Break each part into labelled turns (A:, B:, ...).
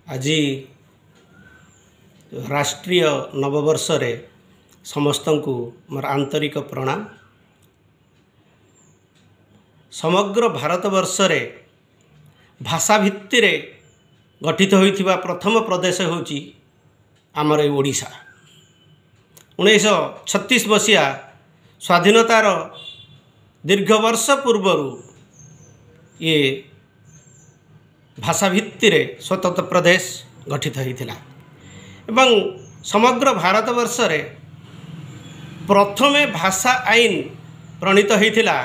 A: ଆଜି ରାଷ୍ଟ୍ରୀୟ ନବବର୍ଷରେ ସମସ୍ତଙ୍କୁ ମୋର ଆନ୍ତରିକ ପ୍ରଣାମ। ସମଗ୍ର ଭାରତବର୍ଷରେ ଭାଷା ଭିତ୍ତିରେ ଗଠିତ ହୋଇଥିବା ପ୍ରଥମ ପ୍ରଦେଶ ହେଉଛି ଆମର ଏଇ ଓଡ଼ିଶା। 1936 ମସିହା ସ୍ୱାଧୀନତାର ଦୀର୍ଘ ବର୍ଷ ପୂର୍ବରୁ ଇଏ ଭାଷା ଭିତ୍ତିରେ ସ୍ୱତନ୍ତ୍ର ପ୍ରଦେଶ ଗଠିତ ହୋଇଥିଲା ଏବଂ ସମଗ୍ର ଭାରତବର୍ଷରେ ପ୍ରଥମେ ଭାଷା ଆଇନ ପ୍ରଣୀତ ହୋଇଥିଲା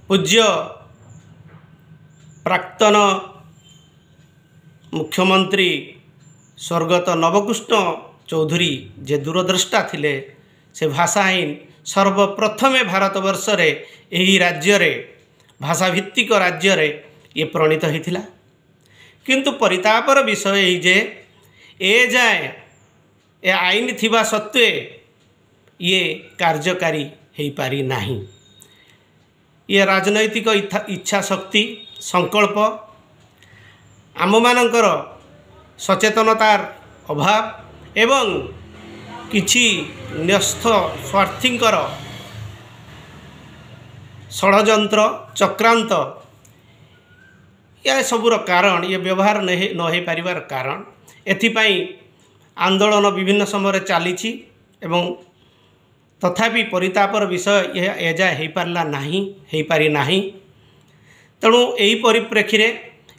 A: ପୂଜ୍ୟ ପ୍ରାକ୍ତନ ମୁଖ୍ୟମନ୍ତ୍ରୀ ସ୍ୱର୍ଗତ ନବକୃଷ୍ଣ ଚୌଧୁରୀ, ଯେ ଦୂରଦ୍ରଷ୍ଟା ଥିଲେ, ସେ ଭାଷା ଆଇନ ସର୍ବପ୍ରଥମେ ଭାରତବର୍ଷରେ ଏହି ରାଜ୍ୟରେ, ଭାଷାଭିତ୍ତିକ ରାଜ୍ୟରେ ଇଏ ପ୍ରଣୀତ ହୋଇଥିଲା। କିନ୍ତୁ ପରିତାପର ବିଷୟ ଏହି ଯେ ଏ ଯାଏଁ ଏ ଆଇନ ଥିବା ସତ୍ତ୍ୱେ ଇଏ କାର୍ଯ୍ୟକାରୀ ହୋଇପାରି ନାହିଁ। ଇଏ ରାଜନୈତିକ ଇଚ୍ଛା ଶକ୍ତି, ସଂକଳ୍ପ, ଆମମାନଙ୍କର ସଚେତନତାର ଅଭାବ ଏବଂ କିଛି ନ୍ୟସ୍ତ ସ୍ୱାର୍ଥୀଙ୍କର ଷଡ଼ଯନ୍ତ୍ର, ଚକ୍ରାନ୍ତ, ଏ ସବୁର କାରଣ, ଇଏ ବ୍ୟବହାର ନ ହୋଇପାରିବାର କାରଣ। ଏଥିପାଇଁ ଆନ୍ଦୋଳନ ବିଭିନ୍ନ ସମୟରେ ଚାଲିଛି ଏବଂ ତଥାପି ପରିତାପର ବିଷୟ ଏହା ଏଯାଏ ହୋଇପାରିଲା ନାହିଁ, ହୋଇପାରି ନାହିଁ। ତେଣୁ ଏହି ପରିପ୍ରେକ୍ଷୀରେ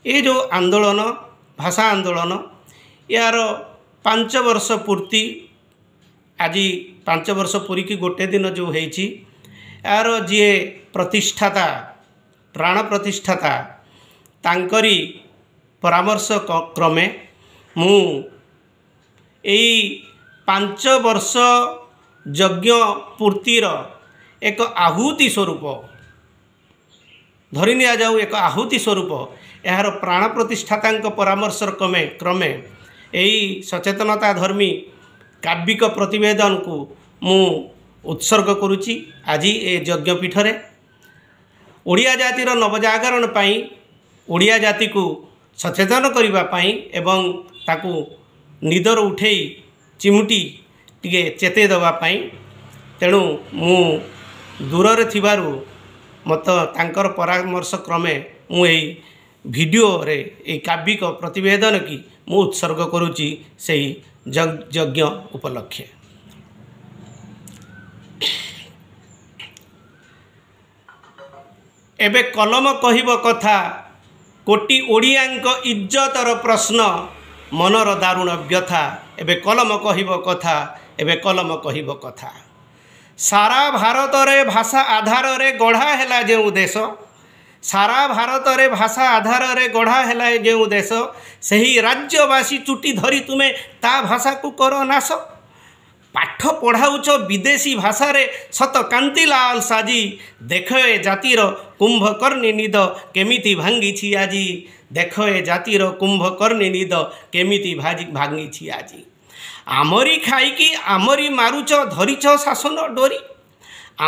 A: ଏ ଯେଉଁ ଆନ୍ଦୋଳନ, ଭାଷା ଆନ୍ଦୋଳନ, ଏହାର 5 ବର୍ଷ ପୂର୍ତ୍ତି ଆଜି 5 ବର୍ଷ ପୂରିକି ଗୋଟେ ଦିନ ଯେଉଁ ହେଇଛି, ଏହାର ଯିଏ ପ୍ରତିଷ୍ଠାତା, ପ୍ରାଣ ପ୍ରତିଷ୍ଠାତା, ତାଙ୍କରି ପରାମର୍ଶ କ୍ରମେ ମୁଁ ଏଇ 5 ବର୍ଷ ଯଜ୍ଞ ପୂର୍ତ୍ତିର ଏକ ଆହୁତି ସ୍ୱରୂପ, ଧରି ନିଆଯାଉ ଏକ ଆହୁତି ସ୍ୱରୂପ, ଏହାର ପ୍ରାଣ ପ୍ରତିଷ୍ଠାତାଙ୍କ ପରାମର୍ଶ କ୍ରମେ ଏହି ସଚେତନତା ଧର୍ମୀ କାବ୍ୟିକ ପ୍ରତିବେଦନକୁ ମୁଁ ଉତ୍ସର୍ଗ କରୁଛି ଆଜି ଏ ଯଜ୍ଞପୀଠରେ। ଓଡ଼ିଆ ଜାତିର ନବଜାଗରଣ ପାଇଁ, ଓଡ଼ିଆ ଜାତିକୁ ସଚେତନ କରିବା ପାଇଁ ଏବଂ ତାକୁ ନିଦରୁ ଉଠେଇ ଚିମୁଟି ଟିକେ ଚେତେଇ ଦେବା ପାଇଁ। ତେଣୁ ମୁଁ ଦୂରରେ ଥିବାରୁ ମୋତେ ତାଙ୍କର ପରାମର୍ଶ କ୍ରମେ ମୁଁ ଏଇ ଭିଡ଼ିଓରେ ଏଇ କାବ୍ୟିକ ପ୍ରତିବେଦନ କି ମୁଁ ଉତ୍ସର୍ଗ କରୁଛି ସେଇ ଯଜ୍ଞ ଉପଲକ୍ଷେ। ଏବେ କଲମ କହିବ କଥା, କୋଟି ଓଡ଼ିଆଙ୍କ ଇଜ୍ଜତର ପ୍ରଶ୍ନ, ମନର ଦାରୁଣ ବ୍ୟଥା। ଏବେ କଲମ କହିବ କଥା, ଏବେ କଲମ କହିବ କଥା। ସାରା ଭାରତରେ ଭାଷା ଆଧାରରେ ଗଢ଼ା ହେଲା ଯେଉଁ ଦେଶ, ସାରା ଭାରତରେ ଭାଷା ଆଧାରରେ ଗଢ଼ା ହେଲା ଯେଉଁ ଦେଶ, ସେହି ରାଜ୍ୟବାସୀ ଚୁଟି ଧରି ତୁମେ ତା ଭାଷାକୁ କର ନାଶ। ପାଠ ପଢ଼ାଉଛ ବିଦେଶୀ ଭାଷାରେ ସତ କାନ୍ତିଲାଲ ସାଜି, ଦେଖ ଏ ଜାତିର କୁମ୍ଭକର୍ଣ୍ଣୀ ନିଦ କେମିତି ଭାଙ୍ଗିଛି ଆଜି, ଦେଖ ଏ ଜାତିର କୁମ୍ଭକର୍ଣ୍ଣୀ ନିଦ କେମିତି ଭାଙ୍ଗିଛି ଆଜି। ଆମରି ଖାଇକି ଆମରି ମାରୁଛ ଧରିଛ ଶାସନ ଡୋରି,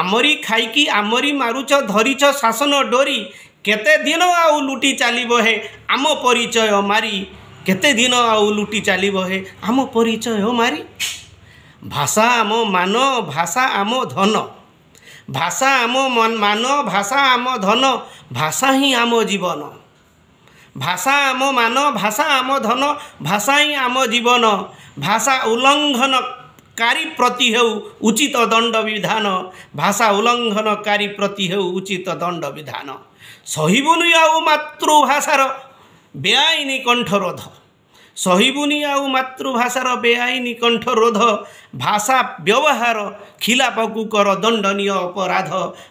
A: ଆମରି ଖାଇକି ଆମରି ମାରୁଛ ଧରିଛ ଶାସନ ଡୋରି, କେତେ ଦିନ ଆଉ ଲୁଟି ଚାଲିବ ହେ ଆମ ପରିଚୟ ମାରି, କେତେ ଦିନ ଆଉ ଲୁଟି ଚାଲିବ ହେ ଆମ ପରିଚୟ ମାରି। ଭାଷା ଆମ ମାନ, ଭାଷା ଆମ ଧନ, ଭାଷା ଆମ ମାନ, ଭାଷା ଆମ ଧନ, ଭାଷା ହିଁ ଆମ ଜୀବନ। ଭାଷା ଆମ ମାନ, ଭାଷା ଆମ ଧନ, ଭାଷା ହିଁ ଆମ ଜୀବନ। ଭାଷା ଉଲ୍ଲଙ୍ଘନକାରୀ ପ୍ରତି ହେଉ ଉଚିତ ଦଣ୍ଡ ବିଧାନ, ଭାଷା ଉଲ୍ଲଙ୍ଘନକାରୀ ପ୍ରତି ହେଉ ଉଚିତ ଦଣ୍ଡ ବିଧାନ। ସହିବୁନି ଆଉ ମାତୃଭାଷାର ବେଆଇନ କଣ୍ଠରୋଧ, ସହିବୁନି ଆଉ ମାତୃଭାଷାର ବେଆଇନ କଣ୍ଠରୋଧ। ଭାଷା ବ୍ୟବହାର ଖିଲାପକୁ କର ଦଣ୍ଡନୀୟ ଅପରାଧ,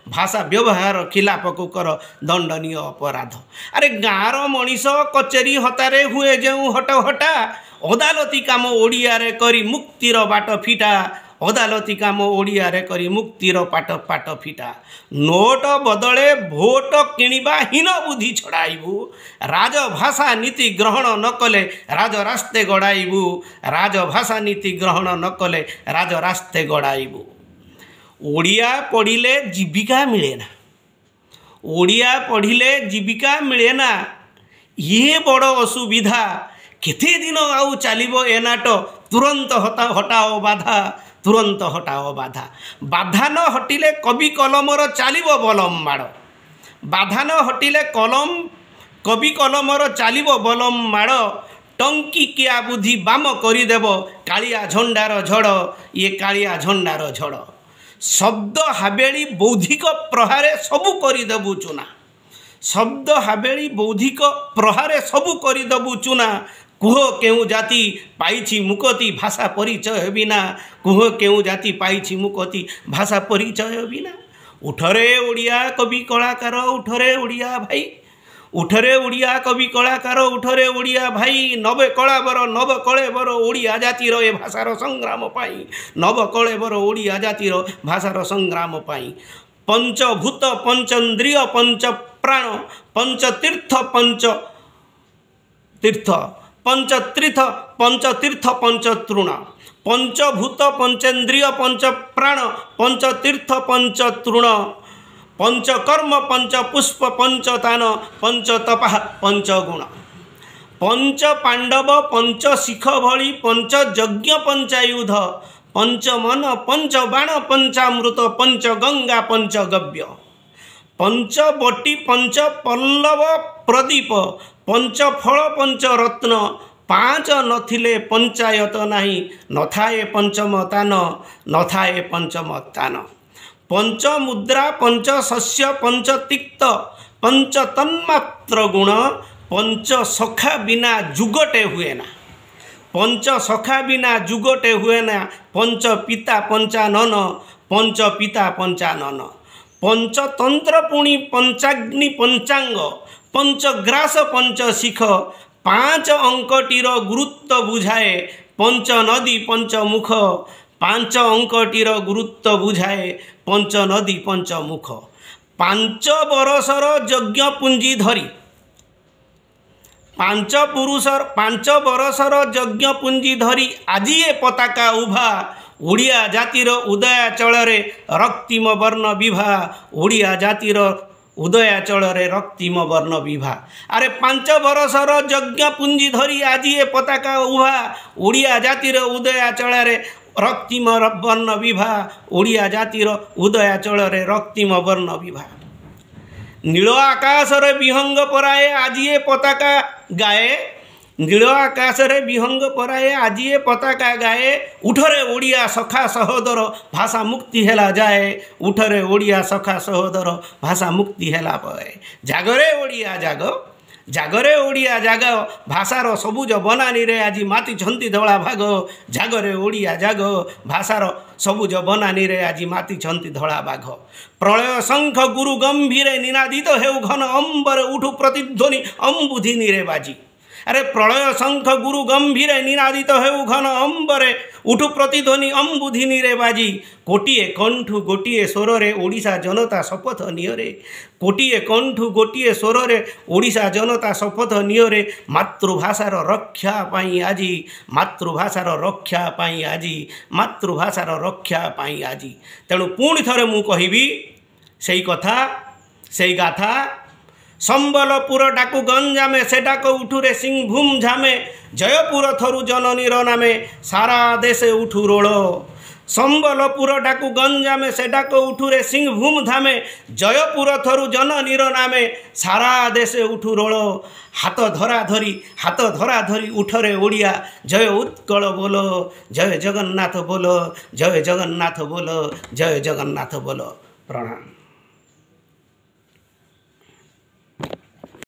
A: ଭାଷା ବ୍ୟବହାର ଖିଲାପକୁ କର ଦଣ୍ଡନୀୟ ଅପରାଧ। ଆରେ ଗାଁର ମଣିଷ କଚେରୀ ହତାରେ ହୁଏ ଯେଉଁ ହଟହଟା, ଅଦାଲତି କାମ ଓଡ଼ିଆରେ କରି ମୁକ୍ତିର ବାଟ ଫିଟା, ଅଦାଲତି କାମ ଓଡ଼ିଆରେ କରି ମୁକ୍ତିର ପାଟ ଫିଟା। ନୋଟ ବଦଳେ ଭୋଟ କିଣିବା ହୀନ ବୁଦ୍ଧି ଛଡ଼ାଇବୁ, ରାଜଭାଷା ନୀତି ଗ୍ରହଣ ନ କଲେ ରାଜରାସ୍ତେ ଗଡ଼ାଇବୁ, ରାଜଭାଷା ନୀତି ଗ୍ରହଣ ନ କଲେ ରାଜରାସ୍ତେ ଗଡ଼ାଇବୁ। ଓଡ଼ିଆ ପଢ଼ିଲେ ଜୀବିକା ମିଳେ ନା, ଓଡ଼ିଆ ପଢ଼ିଲେ ଜୀବିକା ମିଳେ ନା, ଇଏ ବଡ଼ ଅସୁବିଧା। କେତେ ଦିନ ଆଉ ଚାଲିବ ଏ ନାଟ? ତୁରନ୍ତ ହଟାଅ ବାଧା, ତୁରନ୍ତ ହଟାଅ ବାଧା। ବାଧା ନ ହଟିଲେ କବି କଲମର ଚାଲିବ ବଲମ ମାଡ଼। ବାଧା ନ ହଟିଲେ କଲମ କବି କଲମର ଚାଲିବ ବଲମ ମାଡ଼। ଟଙ୍କିକିଆ ବୁଦ୍ଧି ବାମ କରିଦେବ କାଳିଆ ଝଣ୍ଡାର ଝଡ଼, ଇଏ କାଳିଆ ଝଣ୍ଡାର ଝଡ଼। ଶବ୍ଦ ହାବେଳି ବୌଦ୍ଧିକ ପ୍ରହାରେ ସବୁ କରିଦେବୁ ଚୁନା। ଶବ୍ଦ ହାବେଳି ବୌଦ୍ଧିକ ପ୍ରହାରେ ସବୁ କରିଦେବୁ ଚୁନା। କୁହ କେଉଁ ଜାତି ପାଇଛି ମୁକତି ଭାଷା ପରିଚୟ ବିନା? କୁହ କେଉଁ ଜାତି ପାଇଛି ମୁକତି ଭାଷା ପରିଚୟ ବିନା? ଉଠରେ ଓଡ଼ିଆ କବି କଳାକାର, ଉଠରେ ଓଡ଼ିଆ ଭାଇ। ଉଠରେ ଓଡ଼ିଆ କବି କଳାକାର, ଉଠରେ ଓଡ଼ିଆ ଭାଇ। ନବେ କଳାବର ନବ କଳେବର ଓଡ଼ିଆ ଜାତିର ଏ ଭାଷାର ସଂଗ୍ରାମ ପାଇଁ। ନବ କଳେବର ଓଡ଼ିଆ ଜାତିର ଭାଷାର ସଂଗ୍ରାମ ପାଇଁ। ପଞ୍ଚଭୂତ ପଞ୍ଚେନ୍ଦ୍ରିୟ ପଞ୍ଚପ୍ରାଣ ପଞ୍ଚତୀର୍ଥ ପଞ୍ଚ ତୀର୍ଥ ପଞ୍ଚତୀର୍ଥ ପଞ୍ଚତୀର୍ଥ ପଞ୍ଚତୃଣ। ପଞ୍ଚଭୂତ ପଞ୍ଚେନ୍ଦ୍ରିୟ ପଞ୍ଚପ୍ରାଣ ପଞ୍ଚତୀର୍ଥ ପଞ୍ଚତୃଣ। ପଞ୍ଚକର୍ମ ପଞ୍ଚପୁଷ୍ପ ପଞ୍ଚତାନ ପଞ୍ଚତପା ପଞ୍ଚଗୁଣ। ପଞ୍ଚ ପାଣ୍ଡବ ପଞ୍ଚ ଶିଖ ଭଳି ପଞ୍ଚଯଜ୍ଞ ପଞ୍ଚାୟୁଧ। ପଞ୍ଚମନ ପଞ୍ଚବାଣ ପଞ୍ଚାମୃତ ପଞ୍ଚଗଙ୍ଗା ପଞ୍ଚଗବ୍ୟ। ପଞ୍ଚବଟି ପଞ୍ଚ ପଲ୍ଲବ ପ୍ରଦୀପ ପଞ୍ଚଫଳ ପଞ୍ଚରତ୍ନ। ପାଞ୍ଚ ନଥିଲେ ପଞ୍ଚାୟତ ନାହିଁ, ନଥାଏ ପଞ୍ଚମ ତାନ, ନଥାଏ ପଞ୍ଚମ ତାନ। ପଞ୍ଚମୁଦ୍ରା ପଞ୍ଚଶସ୍ୟ ପଞ୍ଚତିକ୍ତ ପଞ୍ଚତନ୍ମାତ୍ର ଗୁଣ। ପଞ୍ଚସଖା ବିନା ଯୁଗଟେ ହୁଏ ନା। ପଞ୍ଚସଖା ବିନା ଯୁଗଟେ ହୁଏ ନା। ପଞ୍ଚ ପିତା ପଞ୍ଚାନନ, ପଞ୍ଚ ପିତା ପଞ୍ଚାନନ। ପଞ୍ଚତନ୍ତ୍ର ପୁଣି ପଞ୍ଚାଗ୍ନି ପଞ୍ଚାଙ୍ଗ ପଞ୍ଚଗ୍ରାସ ପଞ୍ଚଶିଖ। ପାଞ୍ଚ ଅଙ୍କଟିର ଗୁରୁତ୍ୱ ବୁଝାଏ ପଞ୍ଚ ନଦୀ ପଞ୍ଚମୁଖ। ପାଞ୍ଚ ଅଙ୍କଟିର ଗୁରୁତ୍ୱ ବୁଝାଏ ପଞ୍ଚ ନଦୀ ପଞ୍ଚମୁଖ। 5 ବରଷର ଯଜ୍ଞ ପୁଞ୍ଜି ଧରି, 5 ପୁରୁଷ 5 ବରଷର ଯଜ୍ଞ ପୁଞ୍ଜି ଧରି ଆଜି ଏ ପତାକା ଉଭା। ଓଡ଼ିଆ ଜାତିର ଉଦୟାଚଳରେ ରକ୍ତିମ ବର୍ଣ୍ଣ ବିଭା। ଓଡ଼ିଆ ଜାତିର ଉଦୟାଚଳରେ ରକ୍ତିମ ବର୍ଣ୍ଣ ବିଭା। ଆରେ 5 ବରଷର ଯଜ୍ଞ ପୁଞ୍ଜି ଧରି ଆଜି ଏ ପତାକା ଉଭା। ଓଡ଼ିଆ ଜାତିର ଉଦୟାଚଳରେ ରକ୍ତିମ ବର୍ଣ୍ଣ ବିଭା। ଓଡ଼ିଆ ଜାତିର ଉଦୟାଚଳରେ ରକ୍ତିମ ବର୍ଣ୍ଣ ବିଭା। ନୀଳ ଆକାଶରେ ବିହଙ୍ଗ ପରାଏ ଆଜି ଏ ପତାକା ଗାଏ। ନୀଳ ଆକାଶରେ ବିହଙ୍ଗ ପରାଏ ଆଜି ଏ ପତାକା ଗାଏ। ଉଠରେ ଓଡ଼ିଆ ସଖା ସହୋଦର ଭାଷା ମୁକ୍ତି ହେଲା ଯାଏ। ଉଠରେ ଓଡ଼ିଆ ସଖା ସହୋଦର ଭାଷା ମୁକ୍ତି ହେଲା ପରେ। ଜାଗରେ ଓଡ଼ିଆ ଜାଗ, ଜାଗରେ ଓଡ଼ିଆ ଜାଗ। ଭାଷାର ସବୁଜ ବନାନୀରେ ଆଜି ମାତିଛନ୍ତି ଧଳା ଭାଗ। ଜାଗରେ ଓଡ଼ିଆ ଜାଗ, ଭାଷାର ସବୁଜ ବନାନୀରେ ଆଜି ମାତିଛନ୍ତି ଧଳା ବାଘ। ପ୍ରଳୟ ଶଙ୍ଖ ଗୁରୁ ଗମ୍ଭୀରେ ନିନାଦିତ ହେଉ ଘନ ଅମ୍ବରେ, ଉଠୁ ପ୍ରତିଧ୍ୱନି ଅମ୍ବୁଧିନୀରେ ବାଜି। ଆରେ ପ୍ରଳୟ ଶଙ୍ଖ ଗୁରୁ ଗମ୍ଭୀରେ ନିନାଦିତ ହେଉ ଘନ ଅମ୍ବରେ, ଉଠୁ ପ୍ରତିଧ୍ୱନି ଅମ୍ବୁଧିନୀରେ ବାଜି। କୋଟିଏ କଣ୍ଠୁ ଗୋଟିଏ ସ୍ୱରରେ ଓଡ଼ିଶା ଜନତା ଶପଥ ନିଅରେ। କୋଟିଏ କଣ୍ଠୁ ଗୋଟିଏ ସ୍ୱରରେ ଓଡ଼ିଶା ଜନତା ଶପଥ ନିଅରେ। ମାତୃଭାଷାର ରକ୍ଷା ପାଇଁ ଆଜି, ମାତୃଭାଷାର ରକ୍ଷା ପାଇଁ ଆଜି, ମାତୃଭାଷାର ରକ୍ଷା ପାଇଁ ଆଜି। ତେଣୁ ପୁଣି ଥରେ ମୁଁ କହିବି ସେଇ କଥା, ସେଇ ଗାଥା। ସମ୍ବଲପୁର ଡାକୁ ଗଞ୍ଜାମେ, ସେ ଡାକ ଉଠୁରେ ସିଂଭୂମ ଝାମେ। ଜୟପୁର ଥରୁ ଜନନୀର ନାମେ, ସାରା ଦେଶେ ଉଠୁ ରୋଳ। ସମ୍ବଲପୁର ଡାକୁ ଗଞ୍ଜାମେ, ସେ ଡାକ ଉଠୁରେ ସିଂଭୂମ ଧାମେ। ଜୟପୁର ଥରୁ ଜନନୀର ନାମେ, ସାରା ଦେଶେ ଉଠୁ ରୋଳ। ହାତ ଧରା ଧରି, ହାତ ଧରା ଧରି ଉଠରେ ଓଡ଼ିଆ, ଜୟ ଉତ୍କଳ ବୋଲ, ଜୟ ଜଗନ୍ନାଥ ବୋଲ, ଜୟ ଜଗନ୍ନାଥ ବୋଲ, ଜୟ ଜଗନ୍ନାଥ ବୋଲ। ପ୍ରଣାମ।